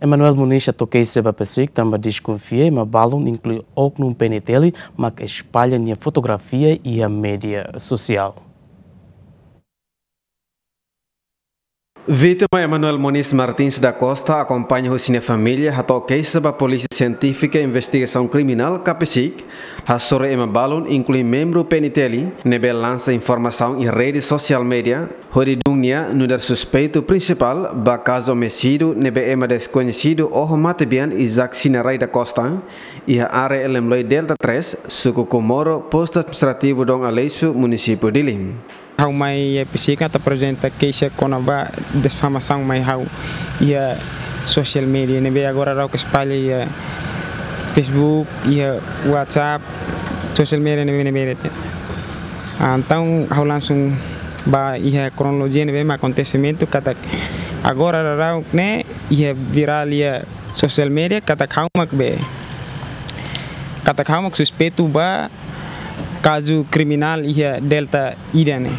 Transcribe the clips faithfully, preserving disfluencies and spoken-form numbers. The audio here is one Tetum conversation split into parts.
Emanuel Moniz hato'o keixa ba PCIC tanba deskonfia ema balun, inklui oknum P N T L, mak espalla nia fotografia iha média sosiál. Vítima Emanuel Moniz Martins da Costa, akompaña husi nia família, hato'o keixa ba Polísia Sientífika Investigasaun Kriminál, ka PCIC, hasoru ema balun, inklui membru P N T L, ne'ebé lansa informasaun iha rede sosiál média, hodi dun nia nu'udar suspeitu prinsipál ba kazu omisídiu ne'ebé ema deskoñesidu oho matebian Isaac Sinarai da Costa, iha área Elemloi Delta três, suku Comoro, postu administrativu Dom Aleixo, munisípiu Dili. Ha'u mai iha PCIC atu aprezenta keixa kona-ba difamasaun mai ha'u iha sosiál média ne'ebé agora daudaun espalla iha Facebook, iha WhatsApp, sosiál média ne'ebé, ne'ebé de'it. Ah, entaun ha'u langsung ba iha kronolojia ne'ebé mak akontesimentu katak agora daudaun ne'e iha virál iha sosiál média katak ha'u mak be, katak ha'u mak suspeitu ba kazu kriminál iha Delta ida-ne'e.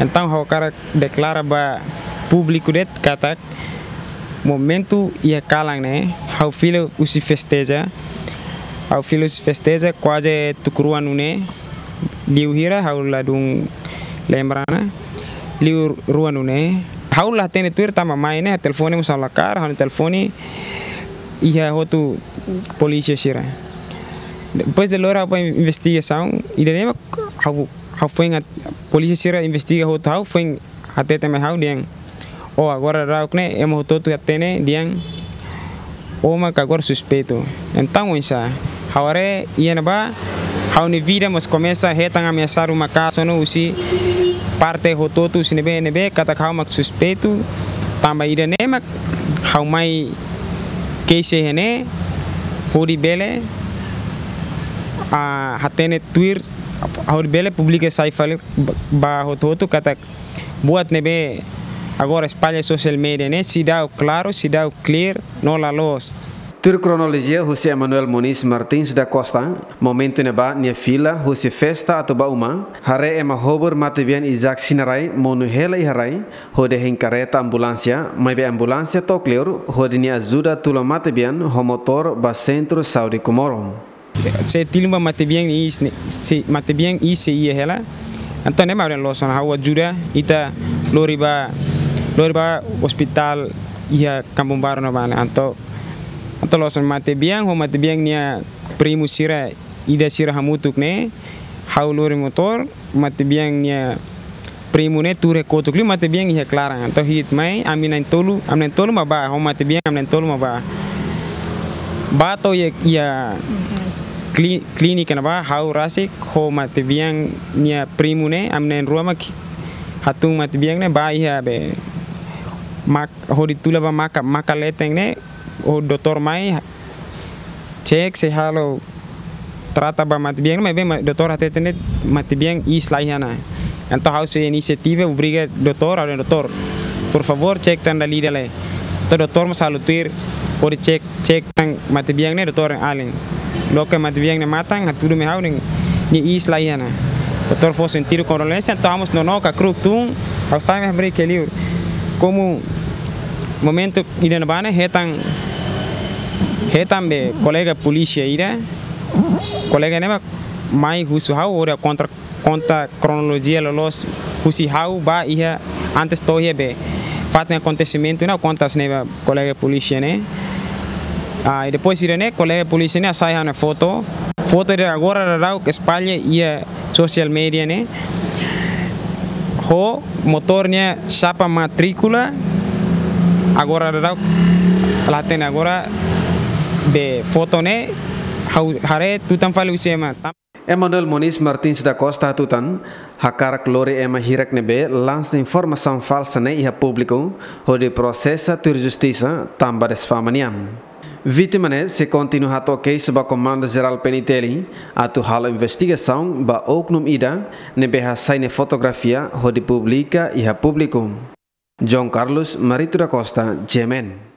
Entaun ha'u hakarak deklara ba públiku de'it katak momentu iha kalan ne'e, ha'u fila husi festeja, ha'u fila husi festeja kuaze tuku rua nune'e, liu hira ha'u ladún lembra ona, liu rua nune'e. Ha'u la hatene tuir tanba mai ne'e telefone mós ha'u la kaer, ha'u-nia telefone iha hotu polísia sira. Depois de lori ha'u ba investigasaun, ida-ne'e mak ha'u, ha'u foin, polísia sira investiga hotu ha'u, foin hatete mai ha'u dehan: "Oh, agora daudaun ne'e ema hotu-hotu hatene dehan ó mak agora suspeitu." Entaun oinsá? Ha'u haree iha ne'ebá, ha'u-nia vida mós komesa hetan ameasa ruma kaso no husi parte hotu-hotu husi ne'ebé-ne'ebé katak ha'u mak suspeitu. Tanba ida-ne'e mak ha'u mai keixa iha ne'e, hodi bele, ah, hatene tuir, hodi bele publika sai fali ba, ba hotu-hotu katak buat ne'ebé agora espalla sosiál média ne'e seidauk klaru, seidauk clear, no la loos. Tuir kronolojia husi Emanuel Moniz Martins da Costa, momentu ne'ebá nia fila husi festa atu ba uma, haree ema hobur matebian Isaac Sinarai monu hela iha rai, hodi hein karreta ambulánsia, maibé ambulánsia to'o kleur, hodi nia ajuda tula matebian ho motór ba Sentru Saúde Comoro. Sei tilun ba matebian iis ne'e, sei, matebian iis sei iha hela. Entaun ne'e mak ha'u dehan loos ona, ha'u ajuda ita lori ba, lori ba ospitál iha Kampung Baru ne'ebá ne'e. Entaun, entaun loos ona, matebian ho matebian nia primu sira ida sira hamutuk ne'e, ha'u lori motór, matebian nia primu ne'e tuur iha kotuk liu, matebian iha klaran. Entaun hi'it mai, ami na'in-tolu, ami na'in-tolu mak bá, ho matebian ami na'in-tolu mak bá. Bá to'o iha, iha kli-, klínika ne'ebá, ha'u rasik ho matebian nia primu ne'e, ami na'in-rua mak hatún matebian ne'e bá iha be mak-, hodi tula ba maka, maka leten ne'e, ho doutór mai, cek, sei halo trata ba matebian, maibé ma-, doutór hateten de'it matebian iis la iha ona. Entaun ha'u sei inisiativa, obriga doutór, ha'u dehan: "Doutór, por favór, cek tan dala ida lai." Entaun doutór mós halo tuir, hodi cek, cek tan matebian ne'e, doutór alin. Loke matebian ne'e matan, hatudu mai ha'u dehan nia iis la iha ona. Doutór fó sentidu kondolénsia, entaun ha'u mós nonook hakru'uk tun, ha'u sai mai hamriik iha liur. Komu momentu ida-ne'ebá ne'e hetan, hetan be kolega polísia ida, kolega ne'e mak mai husu ha'u hodi konta, konta kronolojia loloos husi ha'u bá iha antes to'o iha be fatin akontesimentu ne'e, konta hanesan ne'e ba kolega polísia ne'e. Ah, i depois ida-ne'e kolega polísia ne'e hasai ha'u-nia foto. Foto ida agora daudaun espalla iha sosiál média ne'e. Ho motór nia chapa matríkula, agora daudaun la hatene agora be foto ne'e, ha'u haree tutan fali husi ema. Emanuel Moniz Martins da Costa hatutan, hakarak lori ema hirak ne'ebé lansa informasaun falsa ne'e iha públiku, hodi prosesa tuir justisa, tanba difama nian. Vítima ne'e sei kontinua hato'o keixa ba Komandu Jerál P N T L, atu halo investigasaun ba oknum ida ne'ebé hasai nia fotografia hodi publika iha públiku. João Carlos Marito da Costa, G M N.